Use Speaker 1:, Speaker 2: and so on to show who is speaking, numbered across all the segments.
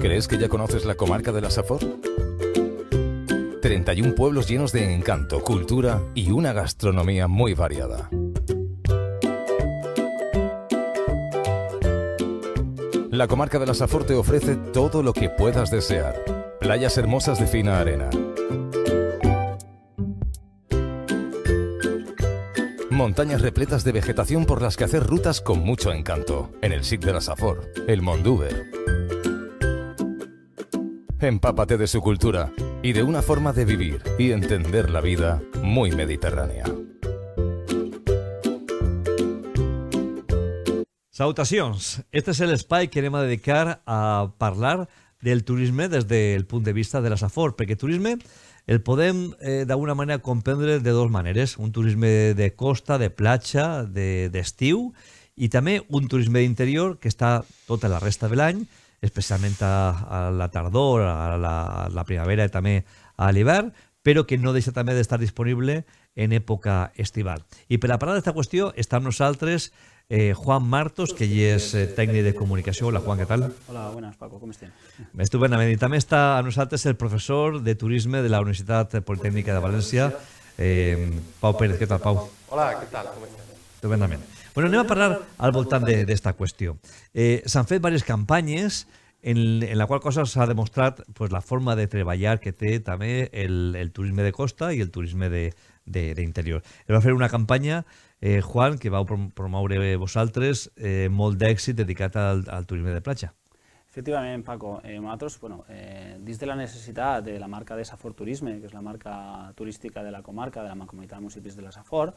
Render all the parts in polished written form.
Speaker 1: ¿Crees que ya conoces la comarca de la Safor? 31 pueblos llenos de encanto, cultura y una gastronomía muy variada. La comarca de la Safor te ofrece todo lo que puedas desear. Playas hermosas de fina arena. Montañas repletas de vegetación por las que hacer rutas con mucho encanto. En el SIC de la Safor, el Mondúber. Empápate de su cultura y de una forma de vivir y entender la vida muy mediterránea.
Speaker 2: Salutacions! Este és l'espai que anem a dedicar a parlar del turisme des del punt de vista de la Safor, perquè turisme el podem d'alguna manera comprendre de dues maneres. Un turisme de costa, de platja, d'estiu, i també un turisme d'interior que està tota la resta de l'any, especialment a la tardor, a la primavera i també a l'hivern, però que no deixa també d'estar disponible en època estival. I per a parlar d'esta qüestió està amb nosaltres Juan Martos, que ell és tècnic de comunicació. Hola, Juan, què tal?
Speaker 3: Hola, buenas, Paco, ¿cómo estén?
Speaker 2: Estupendament. I també està amb nosaltres el professor de turisme de la Universitat Politècnica de València, Pau Pérez. Què tal, Pau?
Speaker 4: Hola, què tal? Com estàs?
Speaker 2: Estupendament. Bueno, anem a parlar al voltant d'esta qüestió. S'han fet diverses campanyes en la qual cosa s'ha demostrat la forma de treballar que té també el turisme de costa i el turisme d'interior. Es va fer una campanya, Juan, que vau promoure vosaltres, molt d'èxit dedicat al turisme de platja.
Speaker 3: Efectivament, Paco. Nosaltres, dins de la necessitat de la marca de Safor Turisme, que és la marca turística de la comarca, de la Mancomunitat de Municipis de la Safor,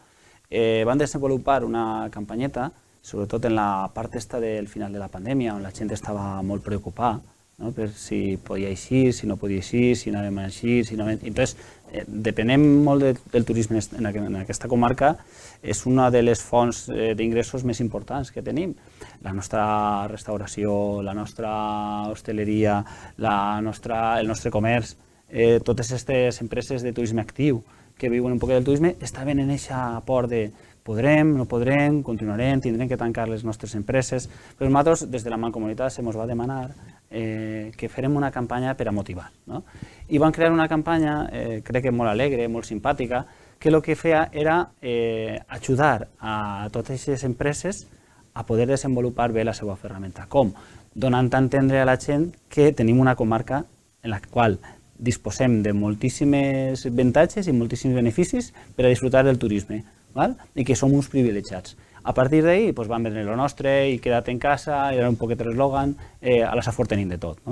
Speaker 3: van desenvolupar una campanyeta, sobretot en la part del final de la pandèmia, on la gent estava molt preocupada, no? Per si podia eixir, si no podia eixir, si anàvem a eixir, si no... Entonces, depenem molt del turisme en aquesta comarca, és una de les fonts d'ingressos més importants que tenim. La nostra restauració, la nostra hostaleria, el nostre comerç, totes aquestes empreses de turisme actiu que viuen un poc del turisme estaven en aquesta por de podrem, no podrem, continuarem, tindrem que tancar les nostres empreses. Però nosaltres, des de la Mancomunitat, se ens va demanar que fèrem una campanya per a motivar. I vam crear una campanya, crec que molt alegre, molt simpàtica, que el que feia era ajudar a totes aquestes empreses a poder desenvolupar bé la seva ferramenta. Com? Donant a entendre a la gent que tenim una comarca en la qual disposem de moltíssims avantatges i moltíssims beneficis per a disfrutar del turisme, i que som uns privilegiats. A partir d'ahir vam vendre el nostre i queda't en casa, era un poquet l'eslògan, a la Safor tenim de tot.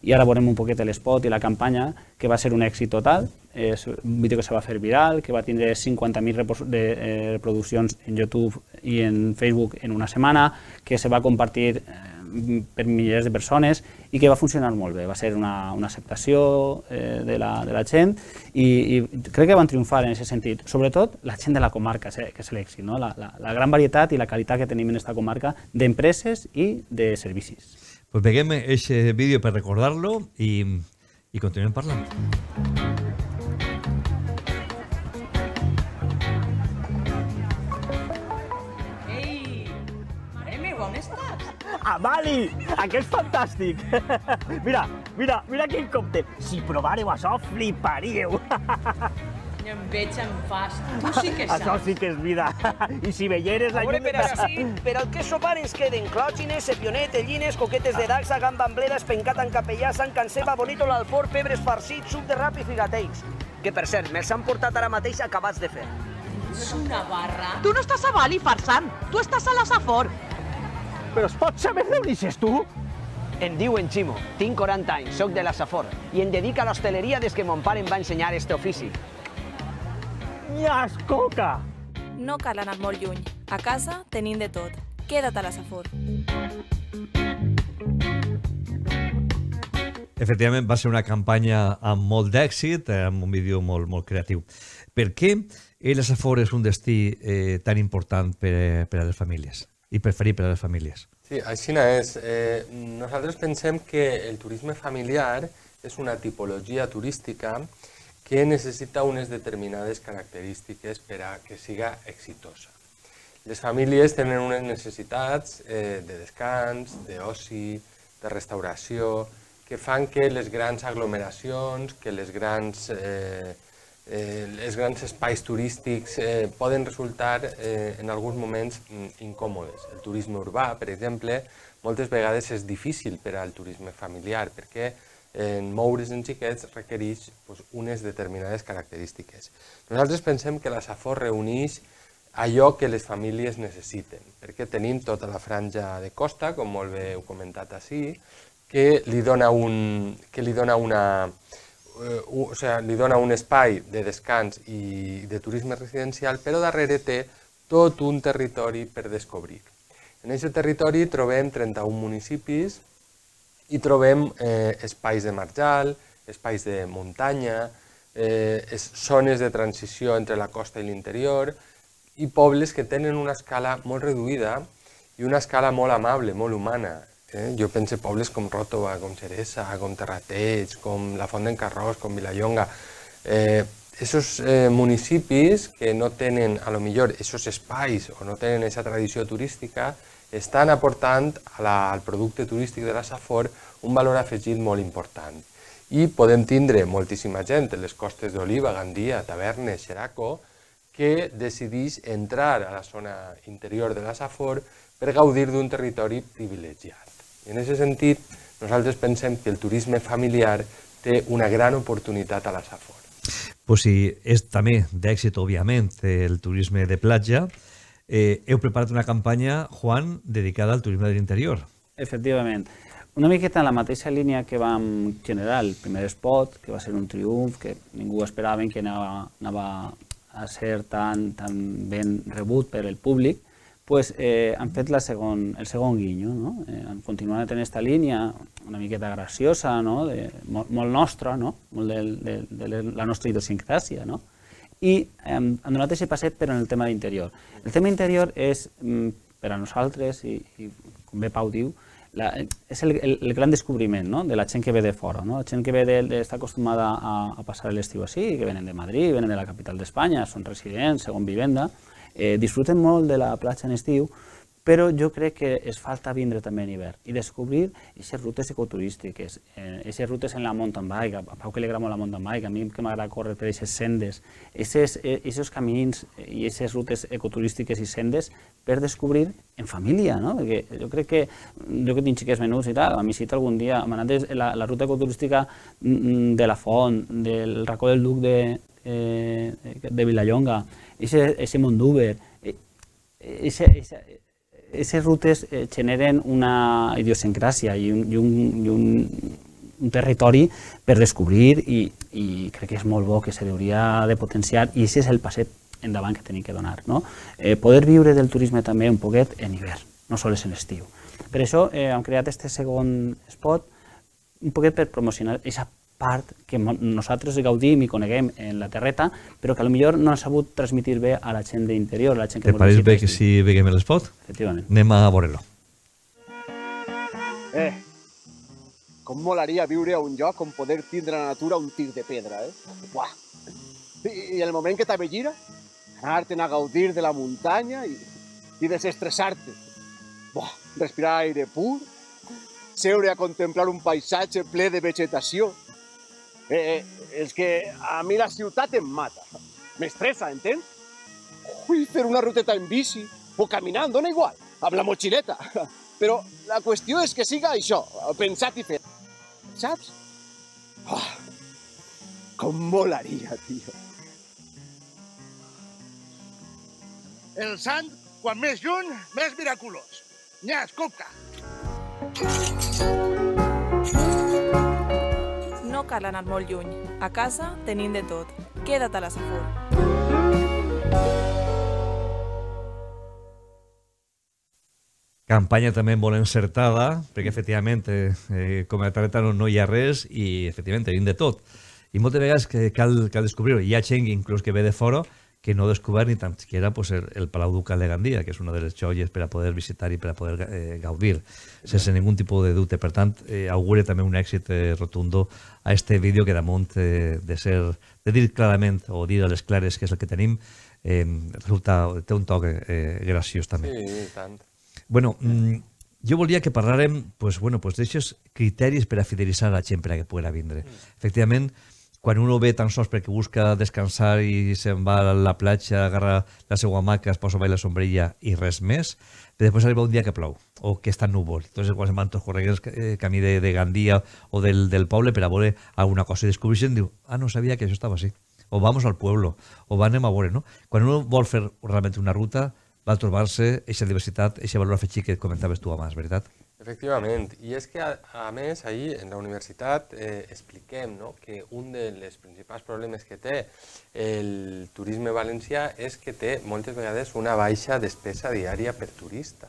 Speaker 3: I ara veurem un poquet l'espot i la campanya, que va ser un èxit total, és un vídeo que se va fer viral, que va tindre 50.000 reproduccions en YouTube i en Facebook en una setmana, que se va compartir per milers de persones i que va funcionar molt bé. Va ser una acceptació de la gent i crec que van triomfar en aquest sentit. Sobretot la gent de la comarca, que és l'èxit, la gran varietat i la qualitat que tenim en aquesta comarca d'empreses i de servicis.
Speaker 2: Pues veiem aquest vídeo per recordar-lo i continuem parlant.
Speaker 5: Amali, aquest és fantàstic. Mira quin còctel. Si provàreu això, fliparíeu.
Speaker 6: No em veig en fas. Tu sí que saps.
Speaker 5: Això sí que és vida. I si veieres la llum...
Speaker 7: Per al que sopar ens queden clògines, sepionet, tellines, coquetes de dacsa, gamba amblera, espencat en capellà, sant canceba, bonito l'alfort, pebres farcits, suc de rap i figatells. Que, per cert, me'ls han portat ara mateix acabats de fer.
Speaker 6: És una barra.
Speaker 8: Tu no estàs a Bali, farsant. Tu estàs a la Safor.
Speaker 5: Però es pot saber d'on ixes tu?
Speaker 7: Em diuen Ximo, tinc 40 anys, soc de la Safor i em dedico a l'hostaleria des que mon pare em va ensenyar este ofici.
Speaker 5: Nyas, coca!
Speaker 9: No cal anar molt lluny. A casa tenim de tot. Queda't a la Safor.
Speaker 2: Efectivament, va ser una campanya amb molt d'èxit, amb un vídeo molt creatiu. Per què la Safor és un destí tan important per a les famílies i preferit per a les famílies?
Speaker 4: Sí, així és. Nosaltres pensem que el turisme familiar és una tipologia turística que necessita unes determinades característiques per a que siga exitosa. Les famílies tenen unes necessitats de descans, d'oci, de restauració, que fan que les grans aglomeracions, que els grans espais turístics poden resultar en alguns moments incòmodes. El turisme urbà, per exemple, moltes vegades és difícil per al turisme familiar perquè moure's en xiquets requereix unes determinades característiques. Nosaltres pensem que la Safor reuneix allò que les famílies necessiten, perquè tenim tota la franja de costa, com molt bé heu comentat així, que li dona un espai de descans i de turisme residencial, però darrere té tot un territori per descobrir. En aquest territori trobem 31 municipis i trobem espais de marjal, espais de muntanya, zones de transició entre la costa i l'interior i pobles que tenen una escala molt reduïda i una escala molt amable, molt humana. Jo penso en pobles com Ròtova, com Xeresa, com Terrateig, com la Font d'en Carròs, com Vilallonga. Esos municipis que no tenen, a lo millor, esos espais o no tenen aquesta tradició turística, estan aportant al producte turístic de la Safor un valor afegit molt important. I podem tindre moltíssima gent en les costes d'Oliva, Gandia, Tavernes, Xeraco, que decideix entrar a la zona interior de la Safor per gaudir d'un territori privilegiat. I en aquest sentit, nosaltres pensem que el turisme familiar té una gran oportunitat a la Safor.
Speaker 2: Pues si és també d'èxit, òbviament, el turisme de platja, heu preparat una campanya, Juan, dedicada al turisme de l'interior.
Speaker 3: Efectivament. Una miqueta en la mateixa línia que vam generar el primer spot, que va ser un triomf, que ningú esperava que anava a ser tan ben rebut per el públic, pues, han fet el segon guinyo. Han continuat en aquesta línia una miqueta graciosa, molt nostra, molt de la nostra idiosincràsia, i han donat aquest passet però en el tema d'interior. El tema interior és, per a nosaltres, i com bé Pau diu, és el gran descobriment de la gent que ve de fora. La gent que ve està acostumada a passar l'estiu així, que venen de Madrid, venen de la capital d'Espanya, són residents, segon vivenda, disfruten molt de la platja en estiu, però jo crec que es falta vindre també en hivern i descobrir aquestes rutes ecoturístiques, aquestes rutes en la mountain bike, a Pau que li agrada molt la mountain bike, a mi que m'agrada córrer per aquestes sendes, aquests camins i aquestes rutes ecoturístiques i sendes per descobrir en família, perquè jo crec que jo que tinc xiquets menuts i tal, a mi cita algun dia, m'ha anat la ruta ecoturística de la Font, del racó del Duc de Vilallonga, ese Mondúber, aquestes rutes generen una idiosincràsia i un territori per descobrir i crec que és molt bo, que se hauria de potenciar i aquest és el passet endavant que tenim que donar. Poder viure del turisme també un poquet en hivern, no sols en estiu. Per això hem creat aquest segon spot un poquet per promocionar aquesta part que nosaltres gaudim i coneguem en la terreta, però que potser no ha sabut transmitir bé a la gent d'interior.
Speaker 2: Te pareix bé que si veiem l'espot?
Speaker 3: Efectivament.
Speaker 2: Anem a veure-lo.
Speaker 10: Com molaria viure a un lloc on poder tindre la natura un tir de pedra, Buah! I el moment que t'avelgira, anar-te'n a gaudir de la muntanya i desestressar-te. Buah! Respirar aire pur, seure a contemplar un paisatge ple de vegetació. És que a mi la ciutat em mata. M'estressa, entens? Vull fer una ruteta en bici o caminant, dona igual, amb la motxileta. Però la qüestió és que siga això, pensat i fet. Saps? Com molaria, tio.
Speaker 11: El sant, quan més lluny, més miraculós. N'hi escolta.
Speaker 9: No cal anar molt lluny. A casa tenim de tot. Queda't a la Safor.
Speaker 2: Campanya també molt encertada, perquè efectivament com a terreta no hi ha res i efectivament tenim de tot. I moltes vegades cal descobrir-ho. Hi ha gent inclús que ve de fora que no ha descobert ni tan siquiera el Palau Ducal de Gandia, que és una de les joies per a poder visitar i per a poder gaudir, sense ningú tipus de dubte. Per tant, augure també un èxit rotundo a este vídeo que damunt de dir clarament o dir a les clares que és el que tenim, té un toc graciós també.
Speaker 4: Sí, tant.
Speaker 2: Bueno, Jo volia que parlàrem d'aixòs criteris per a fidelitzar la gent per a que pugui vindre. Efectivament, quan uno ve tan sols perquè busca descansar i se'n va a la platja, agarra la seva hamaca, es posa a la sombrilla i res més, però després arriba un dia que plou o que està núvol. Entonces, quan se'n van tots corregents camí de Gandia o del poble per a veure alguna cosa i descobreixen, diu, no sabia que això estava així. O vamos al pueblo, o anem a veure, no? Quan uno vol fer realment una ruta, va trobar-se aquesta diversitat, aquest valor afegit que comentaves tu abans, veritat?
Speaker 4: Efectivament, i és que a més ahir en la universitat expliquem que un dels principals problemes que té el turisme valencià és que té moltes vegades una baixa despesa diària per turista.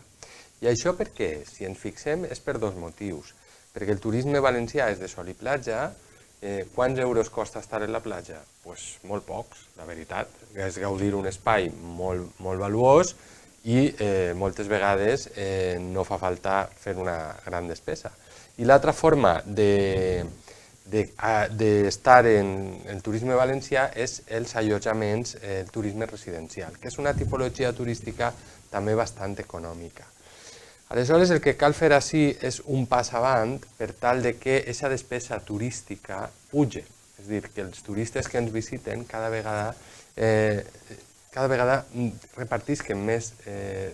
Speaker 4: I això per què? Si ens fixem és per dos motius. Perquè el turisme valencià és de sol i platja. Quants euros costa estar en la platja? Doncs molt pocs, la veritat. És gaudir un espai molt valuós i moltes vegades no fa falta fer una gran despesa. I l'altra forma d'estar en el turisme valencià és els allotjaments, el turisme residencial, que és una tipologia turística també bastant econòmica. Aleshores, el que cal fer així és un pas avant per tal de que aquesta despesa turística pugi. És a dir, que els turistes que ens visiten cada vegada repartisquen més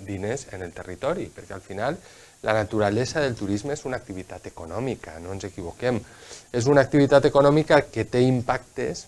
Speaker 4: diners en el territori, perquè al final la naturalesa del turisme és una activitat econòmica, no ens equivoquem. És una activitat econòmica que té impactes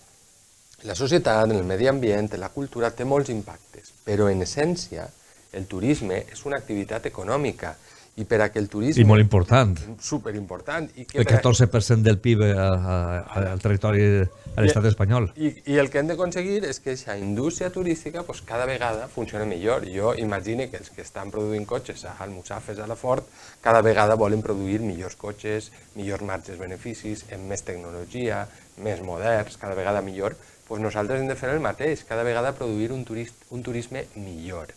Speaker 4: en la societat, en el medi ambient, en la cultura, té molts impactes, però en essència el turisme és una activitat econòmica i per a que el turisme...
Speaker 2: I molt important.
Speaker 4: Superimportant.
Speaker 2: El 14% del PIB al territori de l'estat espanyol.
Speaker 4: I el que hem d'aconseguir és que aquesta indústria turística cada vegada funcioni millor. Jo imagino que els que estan produint cotxes a Almussafes, a la Ford, cada vegada volen produir millors cotxes, millors marges beneficis, amb més tecnologia, més moderns, cada vegada millor. Nosaltres hem de fer el mateix, cada vegada produir un turisme millor.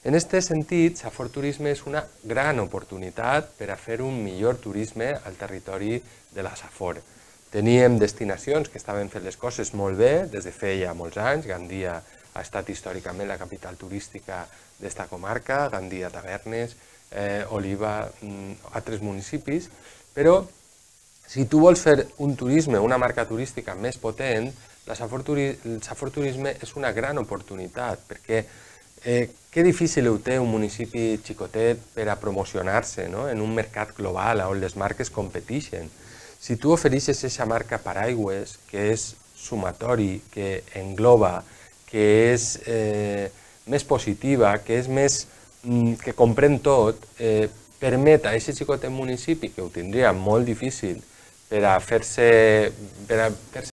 Speaker 4: En aquest sentit, Safor Turisme és una gran oportunitat per a fer un millor turisme al territori de la Safor. Teníem destinacions que estaven fent les coses molt bé des de feia molts anys. Gandia ha estat històricament la capital turística d'esta comarca, Gandia Tavernes, Oliva, altres municipis, però si tu vols fer un turisme, una marca turística més potent, el Safor Turisme és una gran oportunitat, perquè que difícil ho té un municipi xicotet per a promocionar-se en un mercat global on les marques competeixen. Si tu ofereixes aquesta marca paraigües, que és sumatori, que engloba, que és més positiva, que és més que comprèn tot, permet a aquest xicotet municipi, que ho tindria molt difícil per a fer-se